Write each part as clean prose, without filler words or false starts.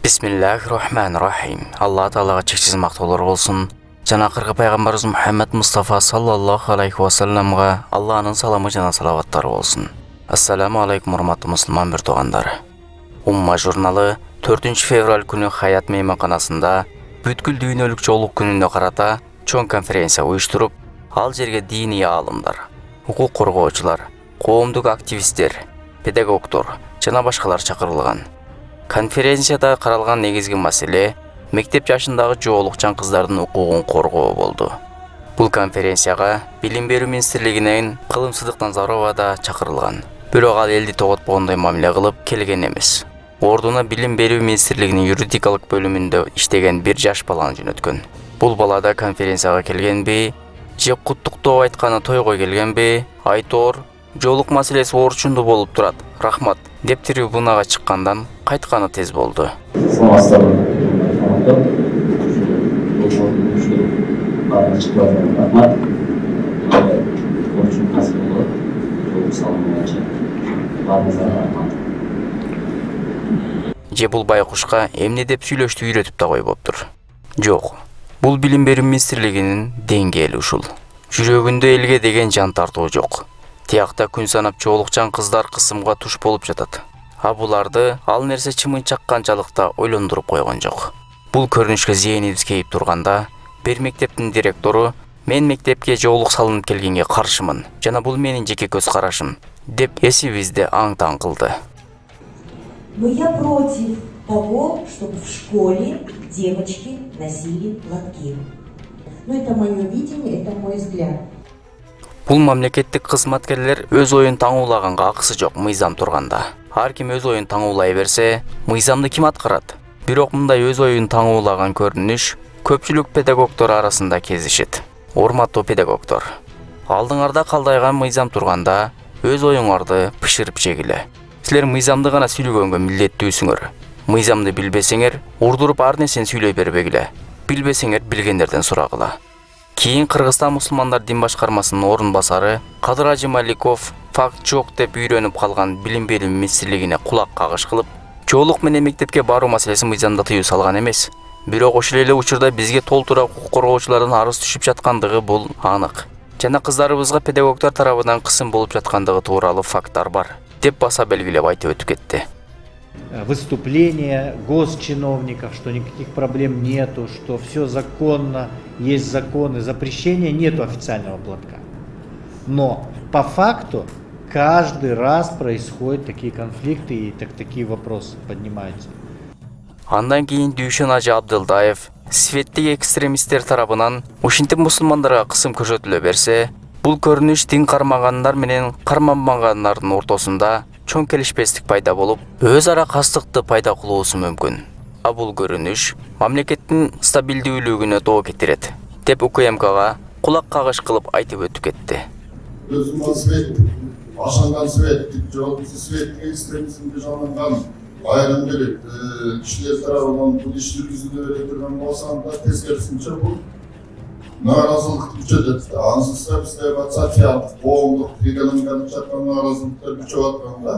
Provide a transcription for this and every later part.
Бисмиллахир-рахманир-рахим. Алла Таалага чексиз мактоолор болсун. Жана акыркы пайгамбарыбыз Мухаммад Мустафа саллаллаху алейхи ва салламга Алланын саламы жана салаваттары болсун. Ассаламу алейкум урматтуу мусулман бир туугандар. Умма журналы 4 февраль күнү Хаят мейманканасында бүткүл дүйнөлүк жоолук күнүнө карата чоң конференция уюштуруп, ал жерге диний аалымдар, укук коргоочулар, коомдук активисттер, педагогдор жана башкалар чакырылган. Конференцияда каралган негизги маселе мектеп жашындагы жоолукчан кыздардын укугун коргоо болду. Бул конференцияга Билим берүү министрлигинен Кылымсыздык Назарова да чакырылган. Бирок ал элди тоготпогондой мамиле кылып келген эмес. Ордуна Билим берүү министрлигинин юридикалык бөлүмүндө иштеген бир жаш баланы жөнөткөн. Бул бала да конференцияга келгенби, же куттуктоо айтканы тойго келгенби, айтор жоолук маселеси орчунду болуп турат. Рахмат деп трибунага чыккандан кайтканы тез болду. Же бул байкушка эмне деп сүйлөштү үйрөтүп да койбоптур. Жок. Бул Билим берүү министрлигинин деңгээли ушул. Жүрөгүндө элге деген жан тартуу жок. Тиякта күн санап жоолукчан кыздар кысымга туш болуп жатат. А буларды ал нерсе чымын чакканчалыкта ойлондуруп койгон жок. Бул көрүнүшкө зээнибиз кейип турганда, бир мектептин директору "Мен мектепке жоолук салынып келгенге каршымын жана бул менин жеке көз карашым" деп эсибизди аң-таң кылды. Но я против того, чтобы в школе девочки носили платки. Но это мое видение, это мой взгляд. Бул мамлекеттик кызматкерлер өз оюн таңуулаганга акысы жок мыйзам турганда. Ар ким өз оюн таңуулай берсе, мыйзамды ким аткарат? Бирок мындай өз оюн таңуулаган көрүнүш көпчүлүк педагогдор арасында кездешет. Урматтуу педагогдор, алдыңарда калдайган мыйзам турганда өз оюңарды пышырып жегиле. Силер мыйзамды гана сүйлөгөнгө милдеттүүсүңөр. Мыйзамды билбесеңер, урдуруп ар нерсени сүйлөй бербегиле. Билбесеңер билгендерден сурагыла. Кийин Кыргызстан мусулмандар дин башкармасынын орун басары Кадыр Ажы Маликов факт жок деп үйрөнүп калган Билим берүү министрлигине кулак кагыш кылып, жоолук менен мектепке баруу маселеси мыйзамда тыюу салган эмес. Бирок ошол эле учурда бизге толтура укук коргоочулардан арыз түшүп жаткандыгы бул анык. Жана кыздарыбызга педагогдор тарабынан кысым болуп жаткандыгы тууралуу факттар бар, деп баса белгилеп айтып өтүп кетти. Выступления госчиновников, что никаких проблем нету, что все законно, есть законы, запрещения нету официального платка. Но по факту каждый раз происходят такие конфликты и такие вопросы поднимаются. Андан кийин Дүйшөн Ажы Абдылдаев светтик экстремисттер тарабынан ушинтип мусулмандарга кысым көрсөтүлө берсе, бул көрүнүш дин кармагандар менен карманбагандардын ортосунда чоң келишпестик пайда болуп, өз ара кастыкты пайда кылуусу мүмкүн. А бул көрүнүш мамлекеттин стабилдүүлүгүнө доо кетирет, деп УКМКга кулак кагыш кылып айтып өтүп кетти. Өзүмө свет, ашанган свет, жоопсуз свет экстремизмге жаланган айрым бир кишилер тарабынан бул иш жүргүзүлө бере турган болсо, анда тескерисинче бул нааразылык күчөтөт. Ансыз да бизде социалдык, коомдук, экономикалык жактан нааразылыктар күчөп атканда,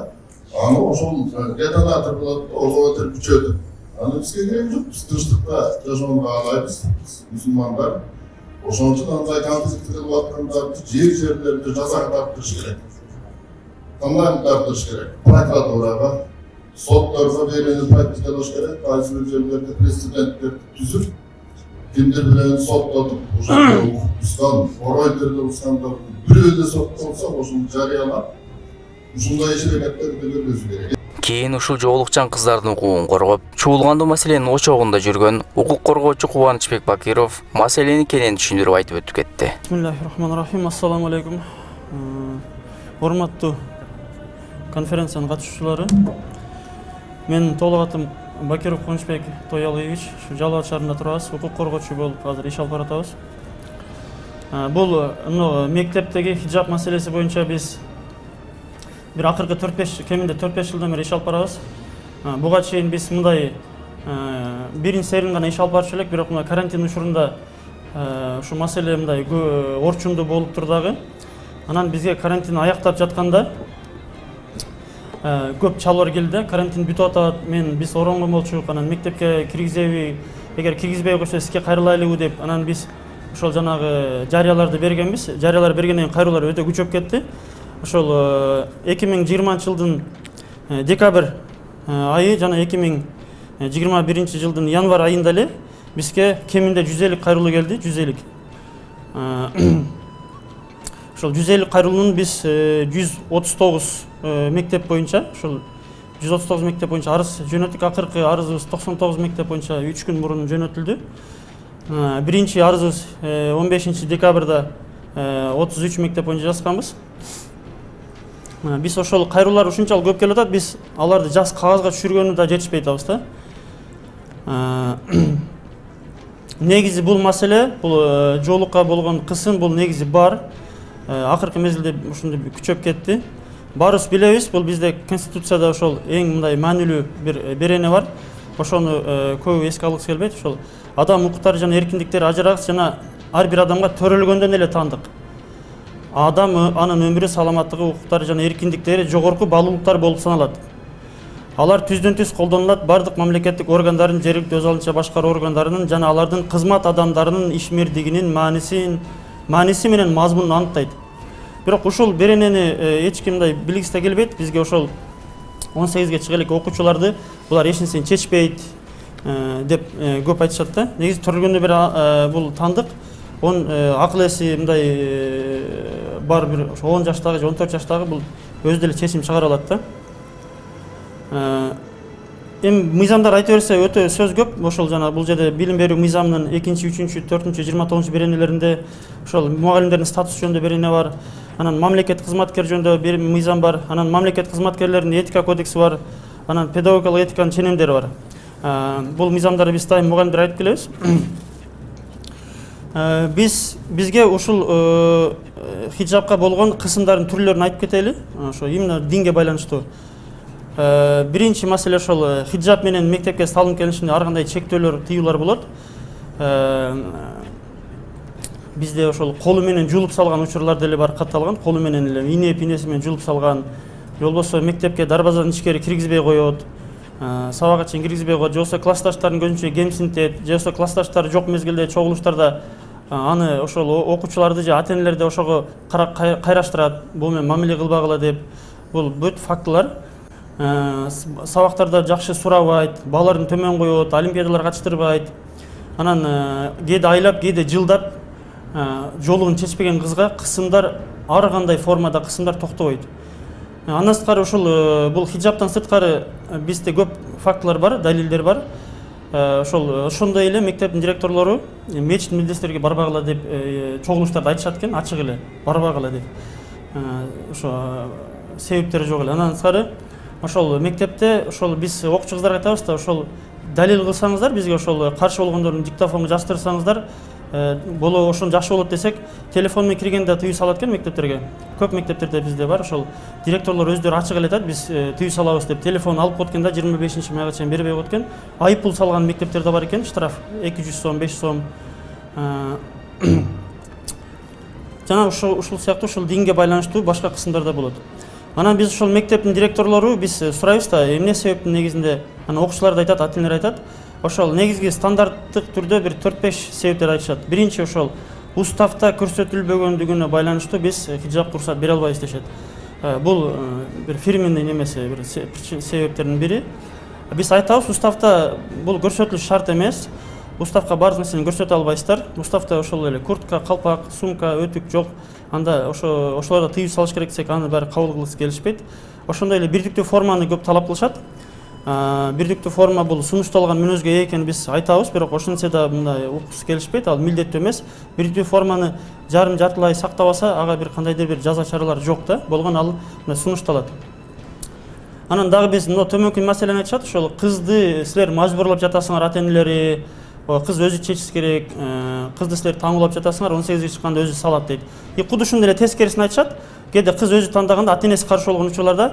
аны ошол детонатор болот, ого өтө күчөтөт. Аны бизге кереги жок, биз тынчтыкта жашоону каалайбыз, мусулмандар. Ошон үчүн андай конфликт кылып аткандарды жерлерде жазага тартыш керек. Кандай тартыш керек? Прокуратурага, сотторго берүүнү практикалаш керек. Кайсы бир жерлерде прецеденттер түзүп, кимдир билен соттотуп, ошол укуктан, оройдерде ускандарды бирөө эле соттолсо, ошону жарыялап, ушундай иш-аракеттерди жүргүзүш керек. Кийин ушул жоолукчан кыздардын укугун коргоп, чуулгандуу маселенин очогунда жүргөн укук коргоочу Кубанычбек Бакиров маселени кенен түшүндүрүп айтып өтүп кетти. Бисмиллахир-рахманир-рахим. Ассаламу алейкум. Урматтуу конференциянын катышуучулары. Мен толук атым Бакиров Кубанычбек Тоялыевич, ушу Жалал Абад шаарында турабыз, укук коргоочу болуп азыр иш алып баратабыз. Бул мектептеги хиджаб маселеси боюнча биз бир акыркы 4-5 кеминде 4-5 жылдан бери иш алып барабыз. Буга чейин биз мындай биринчи серин гана иш алып барчу элек, бирок мына карантин учурунда ушу маселе мындай орчунду болуп тур дагы. Анан бизге карантин аяктап жатканда көп чалуулар келди. Карантин бүтүп атат. Биз оронгон болчук. Анан мектепке киргизеби, эгер киргизбей койсо сизге кайрылайлыбы деп, анан биз ошол жанагы жарыяларды бергенбиз. Жарыялар бергенден кийин кайрылуулар өтө күчөп кетти. Ошол 2020-жылдын декабрь айы жана 2021-жылдын январь айында эле бизге кеминде 150 кайрылуу келди, 150. Ошол 150 кайрылуунун биз 139 мектеп боюнча, ошол 139 мектеп боюнча арыз жөнөттүк. Акыркы арызыбыз 99 мектеп боюнча 3 күн мурун жөнөтүлдү. Биринчи арызыбыз 15 декабрда 33 мектеп боюнча жазганбыз. Биз ошол кайрылуулар ушунчалык көп келип атат, биз аларды жаз кагазга түшүргөнү да жетишпей атабыз да. Негизи бул маселе, бул жоолукка болгон кысым бул негизи бар. Акыркы мезгилде ушундай күчөп кетти. Баарыбыз билебиз, бул бизде конституцияда ошол эң мындай маанилүү бир берене бар. Ошону көп эске алгыбыз келбейт. Ошол адам укуктары жана эркиндиктери ажырагыс жана ар бир адамга төрөлгөндөн эле таандык. Адам анын өмүрү, саламаттыгы, укуктары жана эркиндиктери жогорку баалуулуктар болуп саналат. Алар түздөн-түз колдонулат бардык мамлекеттик органдардын, жергиликтүү өз алдынча башкаруу органдарынын жана алардын кызмат адамдарынын ишмердигинин мааниси менен мазмунун анықтайт. Бирок ушул беренени эч ким мындай билгиси да келбейт. Бизге ошол 18ге чыга элек окуучуларды булар эч нерсени чечпейт деп көп айтышат да. Негизи төрөлгөндө бери бул тандык. Акыл эси мындай бар бир 10 жаштагы же 14 жаштагы бул өзү деле чечим чыгара алат да. Эми мыйзамдар айта берсе өтө сөз көп. Ошол жана бул жерде билим берүү мыйзамынын 2-чи, 3-чү, 4-чү, 29-чу беренелеринде ошол мугалимдердин статусу жөнүндө берене бар. Анан мамлекет кызматкер жөнүндө бир мыйзам бар. Анан мамлекет кызматкерлеринин этика кодекси бар. Анан педагогикалык этиканын ченемдери бар. Бул мыйзамдарды биз дайым мугалимдер айтып келебиз. Бизге ушул хиджабка болгон кысымдардын түрлөрүн айтып кетели. Ошо именно динге байланыштуу. Биринчи маселе ошол хиджаб менен мектепке салынып келишинде ар кандай чектөөлөр, тыюулар болот. Бизде ошол колу менен жуулуп салган учурлар деле бар, катталган. Колу менен эле инеси менен жуулуп салган. Же болбосо мектепке дарбазадан ичкери киргизбей коет. Сабакка чейин киргизбей коет. Же болбосо классташтарын көзүнчө кемсинтет. Же болбосо классташтары жок мезгилде чогулуштарда аны ошол окуучуларды же ата-энелерди ошого кайраштырат. Бул менен мамиле кылбагыла деп. Бул бүт фактылар. Сабактарда жакшы сурабайт, балларын төмөн коет, олимпиадаларга катыштырбайт. Анан кээде айлап, кээде жылдап жолугун чечпеген кызга кысымдар, ар кандай формада кысымдар токтобойт. Андан сырткары ушул бул хиджабтан сырткары бизде көп фактылар бар, далилдер бар. Ошондой эле мектептин директорлору мечит медрестерге барбагыла деп чогулуштарда айтышат экен, ачык эле барбагыла деп. Ошо себептери жок эле. Андан сырткары ошол мектепте ошол биз окуучу кыздарга айтабыз да, ошол далил кылсаңыздар, бизге ошол каршы болгондордун диктофонго жаздырсаңыздар, боло ошон жакшы болот десек, телефон менен киргенде тыюу салат экен мектептерге. Көп мектептерде бизде бар, ошол директорлор өздөрү ачык эле айтат, биз тыюу салабыз деп телефон алып койгондо 25-майга чейин бербей койот экен. Айып пул салган мектептерде бар экен, штраф 200 сом, 500 сом. Жана ушул сыяктуу ушул динге байланыштуу башка кысымдар да болот. Анан биз ошол мектептин директорлору биз сурайбыз да, эмне себептин негизинде, анан окуучулар да айтат, ата-энелер айтат. Ошол негизги стандарттык түрдө бир 4-5 себептер айтышат. Биринчи ошол уставта көрсөтүлбөгөндүгүнө байланыштуу биз хиджабка уруксат бере албайбыз дешет. Бул бир фирменный немеси, бир себептердин бири. Биз айтабыз, уставта бул көрсөтүлүш шарт эмес. Уставка баардык нерсени көрсөтө албайсыздар. Уставта ошол эле куртка, калпак, сумка, өтүк жок. Анда ошолорго тыюу салыш керек десек, аны баары кабыл кылгысы келишпейт. Ошондой эле бирдиктүү форманы көп талап кылышат. Бирдиктүү форма бул сунушталган мүнөзгө ээ экенин биз айтабыз, бирок ошентсе да мындай укугусу келишпейт, ал милдеттүү эмес. Бирдиктүү форманы жартылай сактабаса, ага бир кандайдыр бир жаза чаралар жок да, болгон ал сунушталат. Анан дагы биз мына төмөнкү маселени айтышат, ошол кызды силер мажбурлап жатасыңар, ата-энелери, кыз өзү чечиш керек, кызды силер таңуулап жатасыңар, 18-ге чыкканда өзү салат дейт. Куду ушундай эле тескерисин айтышат. Кээде кыз өзү тандаганда ата-энеси каршы болгон учурларда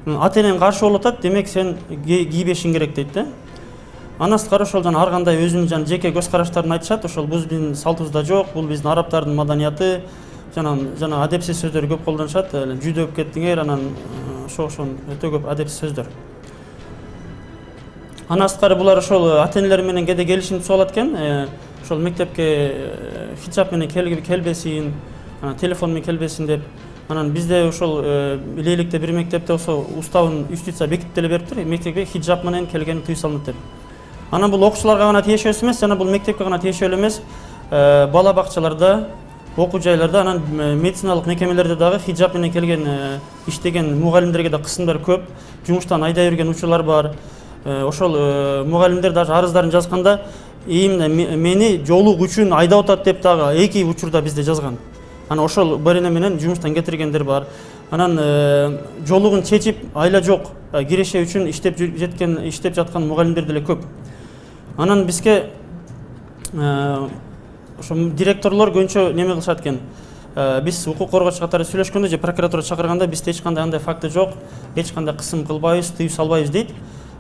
ата-энең каршы болуп атат, демек сен кийбешиң керек дейт да. Андан сырткары ошол жана ар кандай өзүнүн жана жеке көз караштарын айтышат. Ошол бул биздин салтыбызда жок, бул биздин арабтардын маданияты, жана адепсиз сөздөрдү көп колдонушат. Жүдөп кеттиңер, анан ошон өтө көп адепсиз сөздөр. Андан сырткары булар ошол ата-энелер менен кээде келишимди сууп алат экен. Ошол мектепке хиджаб менен келбесин, телефон менен келбесин деп. Анан бизде ошол Илейликте бир мектепте ошо уставын юстиция бекитип деле бериптир. Мектепке хиджаб менен келген тыюу салынат деп. Анан бул окуучуларга гана тиешелүү эмес, жана бул мектепке гана тиешелүү эмес. Бала бакчаларда, окуу жайларда, анан медициналык мекемелерде дагы хиджаб менен келген иштеген мугалимдерге да кысымдар көп. Жумуштан айдай берген учурлар бар. Ошол мугалимдер даже арыздарын жазганда именно мени жолук үчүн айдап атат деп дагы 2 учурда бизде жазган. Анан ошол барина менен жумуштан кетиргендер бар. Анан жолугун чечип айла жок киреше үчүн иштеп жаткан мугалимдер деле көп. Анан бизге ошо директорлор көбүнчө неме кылышат экен. Биз укук коргоочу катары сүйлөшкөндө же прокуратура чакырганда бизде эч кандай андай факты жок, эч кандай кысым кылбайбыз, тыюу салбайбыз дейт.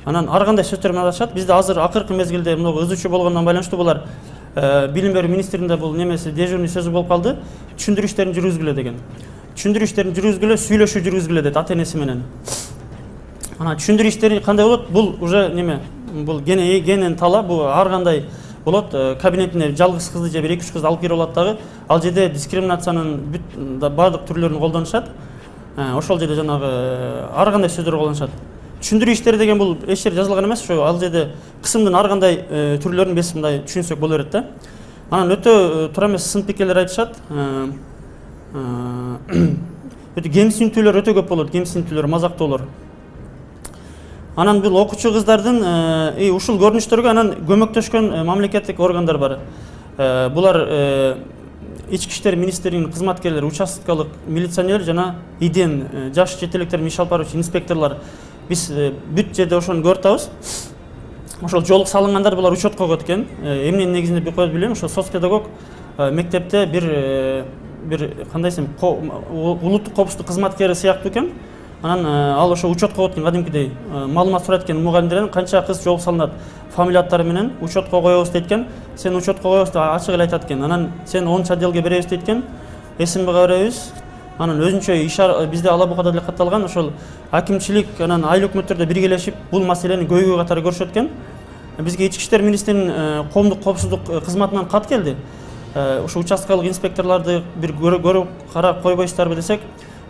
Анан ар кандай сөздөр менен атышат. Бизде азыр акыркы мезгилде мына ызычуу болгондон байланыштуу булар билим берүү министринде бул немеси дежурный сөзү болуп калды. Түшүндүрүү иштерин жүргүзгүлө деген. Түшүндүрүү иштерин жүргүзгүлө, сүйлөшүү жүргүзгүлө дейт ата-энеси менен. Анан түшүндүрүү иштери кандай болот? Бул уже неме? Бул кенен тала, бул ар кандай болот. Кабинетине жалгыз кызды же 1-2 кызды алып кирип алат дагы. Ал жерде дискриминациянын бардык түрлөрүн колдонушат. Ошол жерде жанагы ар кандай сөздөр колдонушат. Түшүндүрүү иштери деген бул эч жерде жазылган эмес. Ошо ал жерде кысымдын ар кандай түрлөрүн биз мындай түшүнсөк боло берет да. Анан өтө туура эмес сын пикирлер айтышат. Өтө кемсинтүүлөр өтө көп болот, кемсинтүүлөр, мазактоолор. Анан бул окуучу кыздардын ушул көрүнүштөргө анан көмөктөшкөн мамлекеттик органдар бар. Булар Ички иштер министрлигинин кызматкерлери, участкалык милиционер жана иден жаш четеликтерин иш алып баруучу инспекторлор. Биз бүт жерде ошону көрүп атабыз. Ошол жолук салынгандар булар учетко койгот экен. Эмненин негизинде коет билбейм. Ошо соцпедагог мектепте бир кандай десем, улуттук коопсуздук кызматкери сыяктуу экен. Анан ал ошо учетко койот экен кадимкидей. Маалымат сурайт экен мугалимдерден канча кыз жолук салынат, фамилия-аттары менен учетко коебуз дейт экен. Сен учетко коебуз деп ачык эле айтат экен. Анан сен 10 отделге беребиз дейт экен. СМБга беребиз. Анан өзүнчө бизде Алабукада деле катталган, ошол акимчилик анан айыл өкмөттөрдө биргелешип бул маселени көйгөй катары көрүшөт экен. Бизге Ички иштер министринин коомдук коопсуздук кызматынан кат келди. Ошо участкалык инспекторлорду бир көрүп карап койбойсуздарбы десек,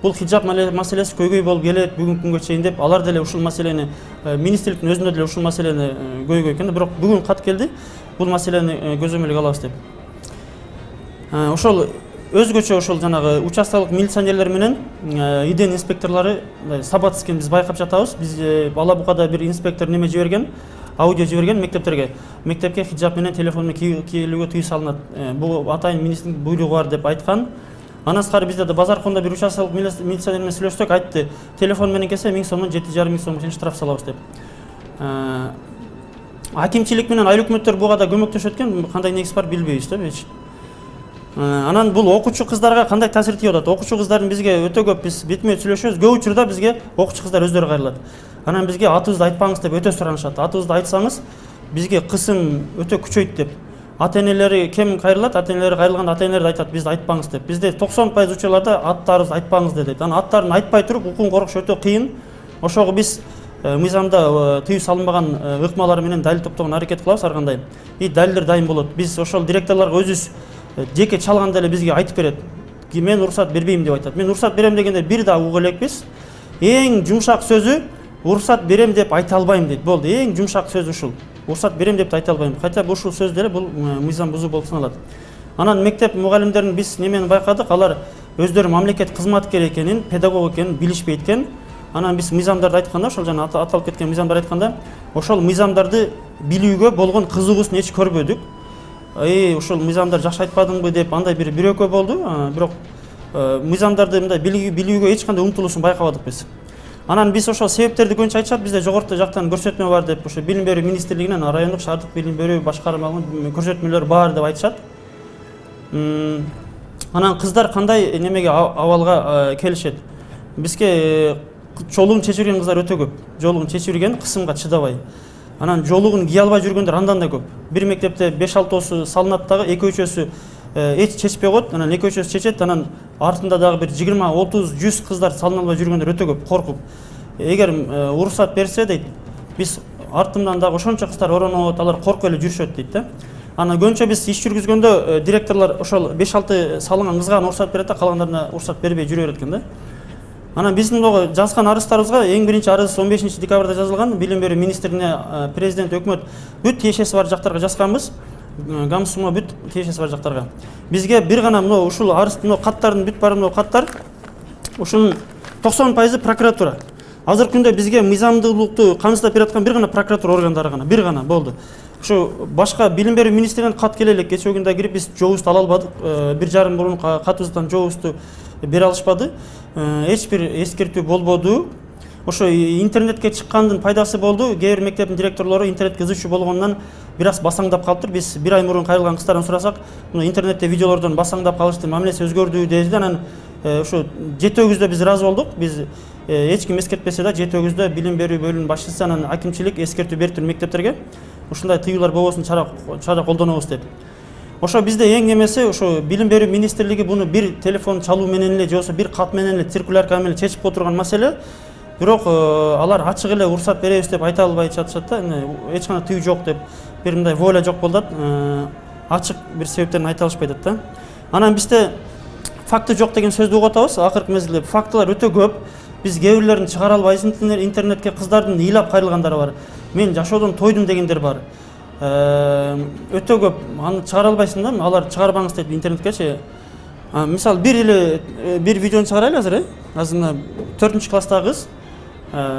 бул хиджаб маселеси көйгөй болуп келет бүгүнкү күнгө чейин деп, алар деле ушул маселени министрликтин өзүндө деле ушул маселени көйгөй экен. Бирок бүгүн кат келди, бул маселени көзөмөлгө алабыз деп. Ошол өзгөчө ошол жанагы участкалык милиционерлер менен иден инспекторлору сабат экен биз байкап жатабыз. Биз Алабукада бир инспектор неме жиберген, аудио жиберген мектепке хиджаб менен телефон менен кийлүүгө тыюу салынат. Бул атайын министрдин буйругу бар деп айткан. Андан сырткары бизде Базаркондо бир участкалык милиционер менен сүйлөштүк, айтты, телефон менен келсе 1000 сомдон 7,5 сомго чейин штраф салабыз деп. Акимчилик менен айыл өкмөттөр буга да көмөктөшөт экен, кандай негиз бар билбейбиз да эч. Анан бул окуучу кыздарга кандай таасир тийип атат? Окуучу кыздардын бизге өтө көп биз бетме сүйлөшөбүз. Көп учурда бизге окуучу кыздар өздөрү кайрылат. Анан бизге атыбызды айтпаңыз деп өтө суранышат. Атыбызды айтсаңыз бизге кысым өтө күчөйт деп. Ата-энелери кем кайрылат? Ата-энелери кайрылганда ата-энелер айтат бизди айтпаңыз деп. Бизде 90% учурларда аттарыбызды айтпаңыз дейт. Анан аттарын айтпай туруп укугун коргош өтө кыйын. Ошого биз мыйзамда тыюу салынбаган ыкмалар менен далил топтогон аракет кылабыз ар кандай. Далилдер дайын болот. Биз ошол директорлорго өзүбүз жеке чалганда эле бизге айтып берет. Мен уруксат бербейм деп айтат. Мен уруксат берем дегенде бир да уга элекпиз. Эң жумшак сөзү уруксат берем деп айта албайм дейт. Болду. Эң жумшак сөз ушул. Уруксат берем деп айта албайм. Кайта ушул сөз деле бул мыйзам бузуу болуп саналат. Анан мектеп мугалимдерин биз немени байкадык, алар өздөрү мамлекет кызматкери экенин, педагог экенин билишпейт экен. Анан биз мыйзамдарды айтканда, ошол жана аталып кеткен мыйзамдарды айтканда, ошол мыйзамдарды билүүгө болгон кызыгуусун эч көрбөдүк. Ошол мыйзамдар жакшы айтпадыңбы деп андай бир экөө болду. Бирок мыйзамдарды мындай билүүгө эч кандай умтулуушун байкабадык биз. Анан биз ошол себептерди көбүнчө айтышат, бизде жогорку жактан көрсөтмө бар деп, ошо билим берүү министрлигинен райондук шаардык билим берүү башкармалыгынын көрсөтмөлөр бар деп айтышат. Анан кыздар кандай немеге абалга келишет? Бизге жолугун чечирген кыздар өтө көп. Жолугун чечирген кысымга чыдабай. Анан жолугун кие албай жүргөндөр андан да көп. Бир мектепте 5-6 салынат дагы 2-3 эч чечпей коет, анан 2-3 чечет, анан артында дагы бир 20, 30, 100 кыздар салына албай жүргөндөр өтө көп, коркуп. Эгер уруксат берсе дейт, биз артымдан дагы ошончо кыздар оронуп, алар коркуп эле жүрүшөт дейт да. Ана көбүнчө биз иш жүргүзгөндө директорлор ошол 5-6 салынган кызга уруксат берет да, калгандарына уруксат бербей жүрө берет экен да. Анан биздин дагы жазган арыздарыбызга эң биринчи арыз 15 декабрда жазылган, билим берүү министрине, президент, өкмөт бүт тиешеси бар жактарга жазганбыз. Гамсума бүт тиешеси бар жактарга. Бизге бир гана мына ушул арыз, мына каттардын бүт бары мына каттар. Ушунун 90% прокуратура. Азыркы күндө бизге мыйзамдуулукту камсыздап бере аткан бир гана прокуратура органдары гана, бир гана болду. Ушу башка билим берүү министринен кат келе элек, кечээ күндө кирип биз жообузду ала албадык. 1,5 мурун катыбыздан жообузду бере алышпады. Эч бир эскертүү болбоду. Ошо интернетке чыккандын пайдасы болду. Кээ бир мектептин директорлору интернетке ызычуу болгондон бир аз басаңдап калыптыр. Биз бир ай мурун кайрылган кыздардан сурасак, мына интернетте видеолордон басаңдап калышты, мамилеси өзгөрдү деди. Анан ошо 7-өгүздө биз разы болдук. Биз эч ким эскертпесе да 7-өгүздө билим берүү бөлүмүнүн башчысы анан акимчилик эскертүү бериптир мектептерге. Ушундай тыюулар болбосун, чара колдонобуз деп. Ошо бизде эң эмеси ошо билим берүү министрлиги буну бир телефон чалуу менен эле же болбосо бир кат менен эле циркулярка менен чечип кое турган маселе. Бирок алар ачык эле уруксат беребиз деп айта албай жатышат да. Эч кандай тыюу жок деп, бир мындай воля жок болду. Ачык бир себептерин айта алышпай атат да. Анан бизде факты жок деген сөздү угуп атабыз. Акыркы мезгилде фактылар өтө көп. Биз кээ бирлерин чыгара албайбыз интернетке, кыздардын ыйлап кайрылгандары бар. Мен жашоодон тойдум дегендер бар. Өтө көп. Аны чыгара албайсың да, алар чыгарбаңыз дейт интернеткечи. Мисалы бир видеону чыгарайлы азыр, Азыр 4-класстагы кыз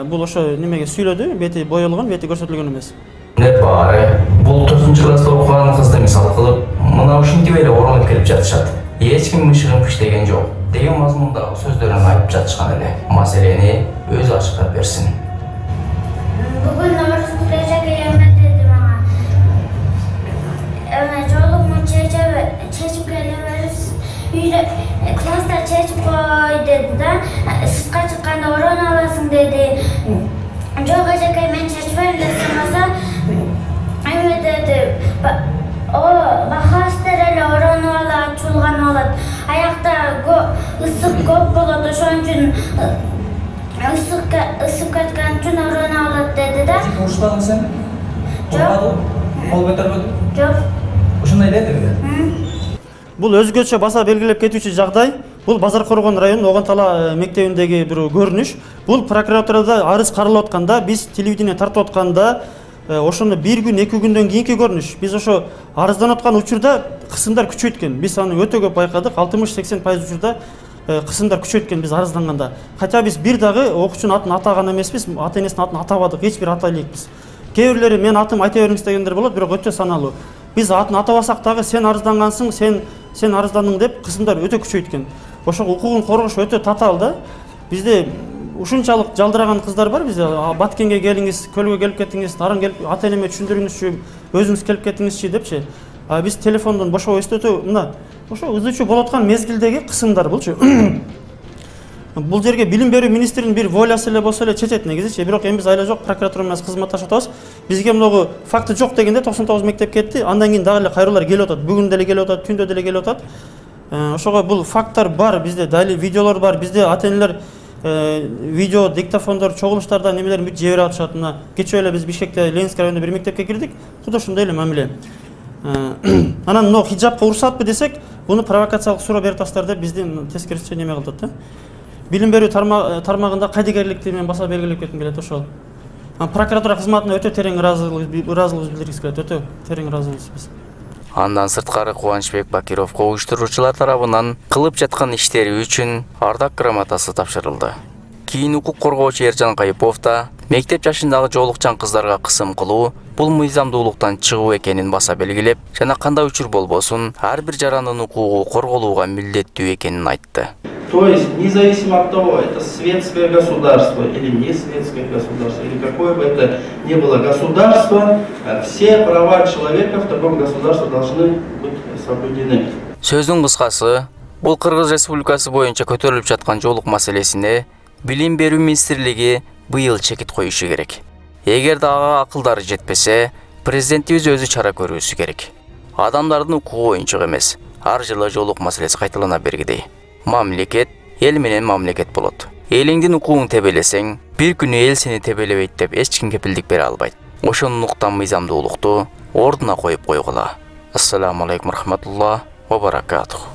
бул ошо немеге сүйлөдү, бети боелгон, бети көрсөтүлгөн эмес. Не бары, бул 4-класста окуган кызды мисал кылып, мына ушинтип эле оронуп келип жатышат. Эч ким мышыгын пиштеген жок деген мазмундагы сөздөрүн айтып жатышкан эле. Маселени өзү ачыктап берсин. Бүгүн Орусбекке эмне деди мага. Жолугун чечип келебиз. Үйдө класста чечип кой деди да. Сыртка чыкканда ороно аласың деди. Жок эжеке, мен чечпейм десем болсо, эме деди. Бахастер эле ороно алат, чулган алат. Аякта ысык көп болот, ошон үчүн ысып кеткен үчүн ороно алат деди да. Урушпадың сен? Жок. Кол көтөрбөдүң? Жок. Ушундай дедиби? Бул өзгөчө баса белгилеп кетүүчү жагдай. Бул Базар Коргон районунун Огонтала мектебиндеги бир көрүнүш. Бул прокуратурада арыз каралып атканда, биз телевидение тартып атканда, ошону бир күн, 2 күндөн кийинки көрүнүш. Биз ошо арызданып аткан учурда кысымдар күчөйткөн. Биз аны өтө көп байкадык. 60-80% учурда кысымдар күчөйткөн биз арызданганда. Хотя биз бир дагы окуучунун атын атаган эмеспиз, ата энесинин атын атабадык, эч бир ата элек биз. Кээ бирлери мен атым айта бериңиз дегендер болот, бирок өтө саналуу. Биз атын атабасак дагы сен арыздангансың, сен арыздандың деп кысымдар өтө күчөйткөн. Ошо укугун коргош өтө татаал да. Бизде ушунчалык жалдыраган кыздар бар. Бизде Баткенге келиңиз, көлгө келип кетиңиз, нарын келип ата энеме түшүндүрүңүзчү, өзүңүз келип кетиңизчи депчи. Биз телефондон бошо эстетүү, мына ошо ызычуу болуп аткан мезгилдеги кысымдар булчу. Бул жерге билим берүү министринин бир волясы эле болсо эле чечет негизичи, бирок эми биз айла жок прокуратура менен кызматташып атабыз. Бизге могу факты жок дегенде 99 мектеп кетти, андан кийин дагы эле кайрылуулар келип атат. Бүгүн деле келип атат, түндө деле келип атат. Ошого бул факттар бар, бизде дали видеолор бар, бизде ата энелер видео диктофондор, чогулуштардан немелерин бүт жиберип атышат. Мына кечээ эле биз Бишкекте Ленинский районунда бир мектепке кирдик. Куда ушундай эле мамиле. Анан мына хиджабка уруксатпы десек, буну провокациялык суроо берип атасыздар деп биздин тескерисинче неме кылдыт да. Билим берүү тармагында кайдыгерликти мен баса белгилеп кетким келет ошол. Прокуратура кызматына өтө терең ыраазылык билдиргибиз келет, өтө терең ыраазыбыз биз. Андан сырткары Кубанычбек Бакировго уюштуруучулар тарабынан кылып жаткан иштери үчүн ардак грамотасы тапшырылды. Кийин укук коргоочу Эржан Кайыпов да мектеп жашындагы жоолукчан кыздарга кысым кылуу бул мыйзамдуулуктан чыгуу экенин баса белгилеп, жана кандай учур болбосун ар бир жарандын укугу корголууга милдеттүү экенин айтты. То есть, независимо от того, это светское государство или не светское государство, или какое бы это ни было государство, все права человека в таком государстве должны быть соблюдены. Сөздүн кыскасы, бул Кыргыз Республикасы боюнча көтөрүлүп жаткан жоолук маселесине Билим берүү министрлиги быйыл чекит коюшу керек. Эгер дагы акылдары жетпесе, президентибиз өзү чара көрүүсү керек. Адамдардын укугу оюнчук эмес. Ар жылы жоолук маселеси кайталана бергидей. мамлекет эл менен мамлекет болот. Элиңдин укугун тебелесең, бир күнү эл сени тебелебейт деп эч ким кепилдик бере албайт. Ошону уктан мыйзамдуулукту ордуна коюп койгула. Ассаламу алейкум рахматуллах ва баракатух.